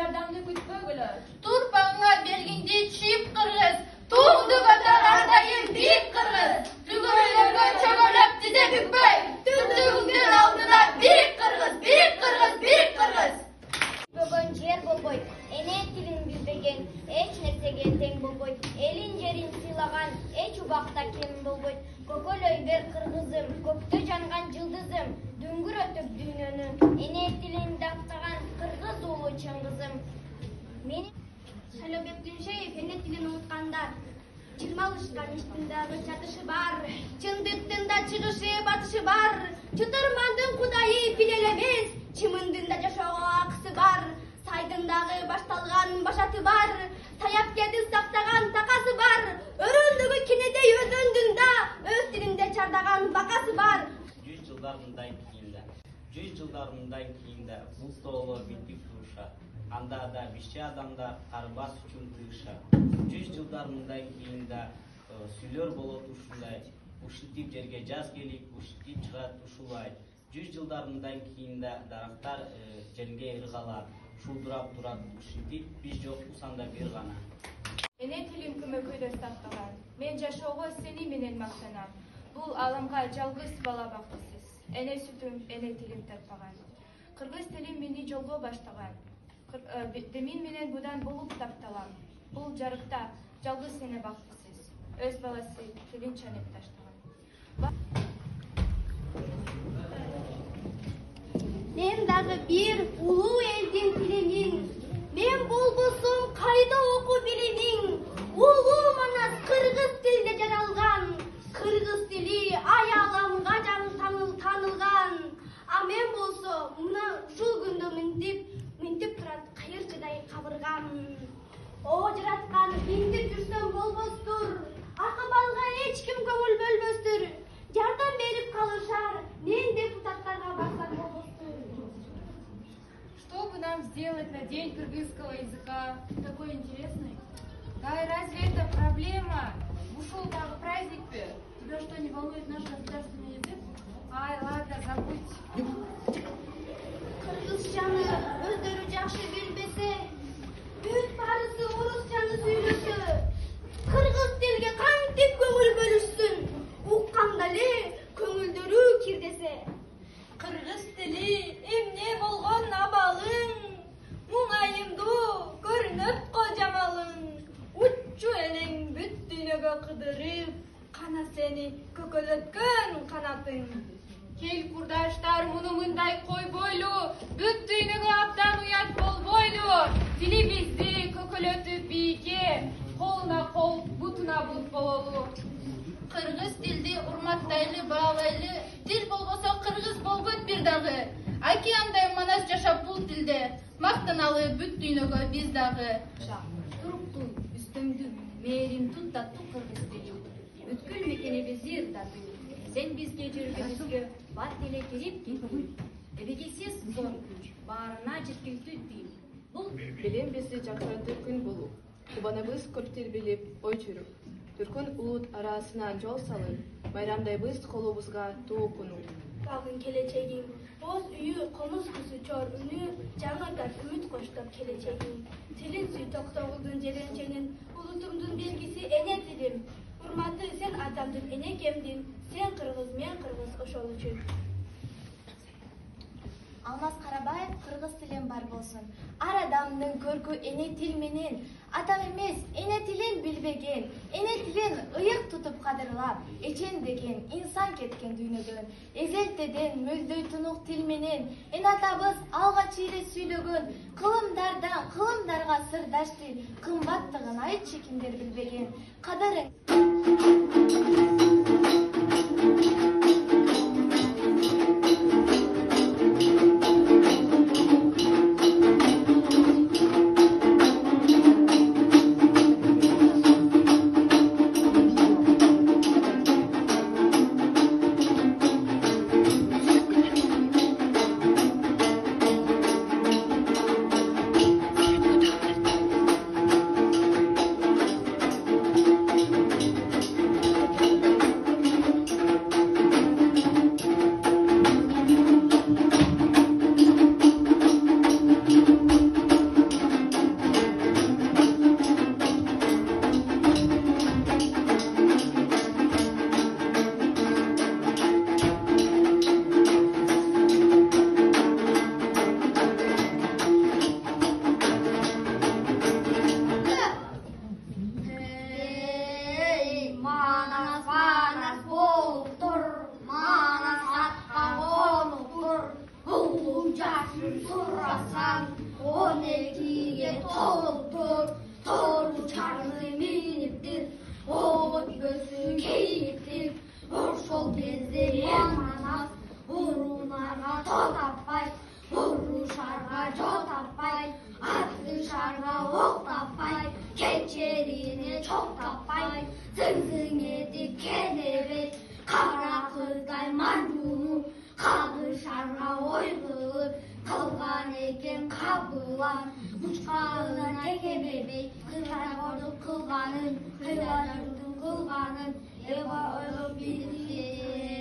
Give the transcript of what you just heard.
жардамды күтпөгүлө. Турпаңга белгиңди чийип кыргыз, туңду көтөр ар дайым бийик кыргыз. Түгөлөргө чөгөлөп тизе бүкпөй, түздүгүңдүн алдына бийик кыргыз, бийик кыргыз, бийик кыргыз. Бүгүн жер болбойт, эне тилин билбеген, эч нерсеге тең болбойт. Элин жерин сыйлаган эч убакта кем болбойт. Көкөлөй бер кыргызым, көктө жанган жылдызым, дүңгүрөтүп дүйнөнү, эне тилин даттаган кыргыз уулу чыңгызым. Мен Шайлообек Дүншеев эне тилин унуткандар. Чырмалышкан иштин дагы чатышы бар, чындыктын да чыгышы батышы бар. Чытырмандын кудайы бир эле эмес, чымындын да жашоого акысы бар. Сайдын дагы башталган башаты бар, саяпкердин сактаган такасы бар. Өрөндөгү кенедей өзөндүн да өз тилинде чардаган бакасы бар. 100 жылдарындан кийин да бул тоолор битип турушат. Анда да бишчи адамдар карбас үчүн тыгышат. 100 жылдарындан кийин да сүйлөр болот ушундай. Ушинтип жерге жаз келип, ушинтип чыгат ушулай. 100 жылдарындан кийин да дарактар жерге ыргалат, шулдурап турат. Ушинтип биз жокпуз анда бир гана. Эне тилим көмөкөйдө сакталган. Мен жашоого сени менен мактанам. Бул аламга жалгыз бала бактысыз. Эне сүтүм, эне тилим татпаган. Кыргыз тилим мени жолго баштаган. Демин менен будан болуп тапталам. Бул жарыкта жалгыз эне бактысыз. Өз баласы тилин чанеп таштаган. Мен дагы бир улуу элдин тилимин. Мен болбосом кайда окуу билимиң? Улуу манас кыргыз тилинде жаралган. Кыргыз тили аяламга танылган. А мен болсо мына ушул күндө минтип турат кайырчыдай кабыргам. О жараткан, минтип жүрсөм болбостур. Акыбалга эч ким көңүл бөлбөстүр. Жардам берип калышар, мен депутаттарга барсам болбостур. Что бы нам сделать на День кыргызского языка? Такой интересный. Да и разве это проблема? Ушел дагы праздник-то. Тебя что, не волнует наш государственный язык? Ай, ладно, забудь. Кыргызчаны өздөрү жакшы билбесе, бүт барысы орусчаны сүйлөсө, кыргыз тилге кантип көңүл бөлүшсүн? Укканда эле көңүлдөрү кирдесе. Кыргыз тили эмне болгон абалың, муңайымдуу көрүнөт го жамалың. Уччу элең бүт дүйнөгө кыдырып, кана сени көкөлөткөн канатың. Кел курдаштар, муну мындай койбойлу, бүт дүйнөгө абдан уят болбойлу. Тилибизди көкөлөтүп бийикке, колуна кол, бутуна бут бололу. Кыргыз тилди урматтайлы, баалайлы, тил болбосо кыргыз болбойт бир дагы. Океандай манас жашап бул тилде, мактаналы бүт дүйнөгө биз дагы. Турукту, үстөңдү, мээрим тут таттуу кыргыз тили. Бүткүл мекенибизди ырдатуу. Сен бизге жүргөнүбүзгө бат эле кирип кеттиң. Эбегейсиз зор күч, баарына жеткиликтүү тил. Бул билим бизди жакшыртыр күн болуп, кубаныбыз көп тербелип, ой чүрүп. Түркүн улут арасынан жол салып, байрамдайбыз колубузга тоокуну. Багын келечегиң, боз үйү, комуз кызы чор үнү, жаңыртат үмүт коштоп келечегиң. Тилин сүй Токтогулдун жеренченин, улутумдун белгиси эне тилим. Урматы сен атамдын энекемдин, сен кыргыз, мен кыргыз ошол үчүн. Алмаз Карабаев кыргыз тилин бар болсун. Ар адамдын көркү эне тил менен. Атам эмес, эне тилин билбеген, эне тилин ыйык тутуп кадырлап, эчен деген инсан кеткен дүйнөдөн. Эзелтеден мөлдөй тунук тил менен, эне атабыз алгач эле сүйлөгөн, кылымдардан кылымдарга сырдаш тил, кымбаттыгын айтчы кимдер билбеген. Кадырың жашын сурасаң, 12'ye толуптур, тору чарны миниптир, от көзү кейиптир, ошол кезде манас, урунарга тоо таппай, урушарга жол таппай, атышарга ок таппай, кечерине чок таппай, зың этип келебей, кара кыздай манжуну кагышарга ой кылып, кылган экен кабылан, учкагына тегебей, кырагордун кылганын, кыйладын кылганын, эба ойлоп билген.